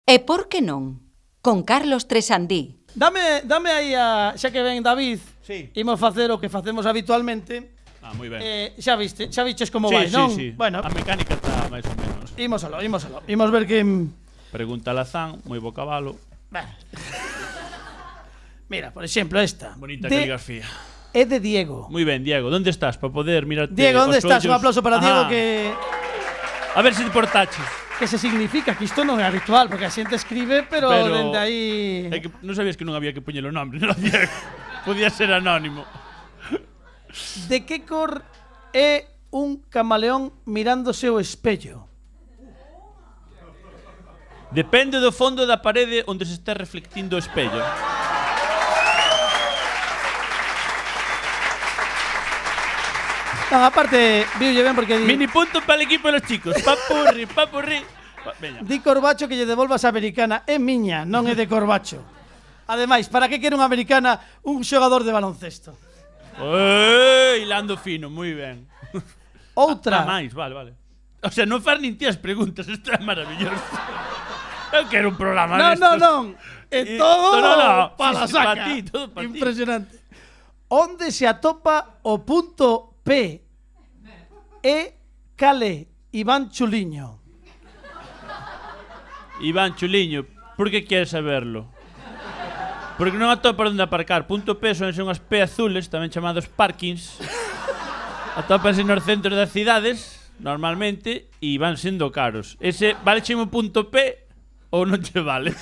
E por que non? Con Carlos Tresandí. Dame aí a... Xa que ven David, imos facer o que facemos habitualmente. Moi ben. Xa viches como vai, non? Sí. Bueno, A mecánica está máis ou menos. Ímosalo. Imos ver que... Pregunta Lazán, moi bo cabalo. Mira, por exemplo, esta. Bonita caligrafía. É de Diego. Moi ben, Diego, onde estás para poder mirarte Diego, onde os estás? ollos? Un aplauso para Diego que... A ver se te portaches. Que se significa que isto non é habitual, porque a xente escribe, pero dende aí... É que non sabías que non había que poñer o nombre, non, Diego? Podía ser anónimo. De que cor é un camaleón mirándose ao espello? Depende do fondo da parede onde se está reflectindo o espello. Non, aparte, viulle ben porque... Mini punto para el equipo de los chicos. Papurri. Veña. Di Corbacho que lle devolvas a americana. É miña, non é de Corbacho. Ademais, para que quere unha americana un xogador de baloncesto? Hilando fino, moi ben. Outra. Máis, vale. O sea, non faz nin ti as preguntas, isto é maravilloso. Eu quero un programa destos. Non. É todo para la saca. Pa ti, todo pa ti. Impresionante. Onde se atopa o punto P? É cale Iván Chuliño. Iván Chuliño, por que queres saberlo? Porque non atopa onde aparcar. Punto P son unhas P azules, tamén chamados parkings. Atópanse nos centros das cidades, normalmente, e van sendo caros. Ese, vale chemo punto P ou non che vale?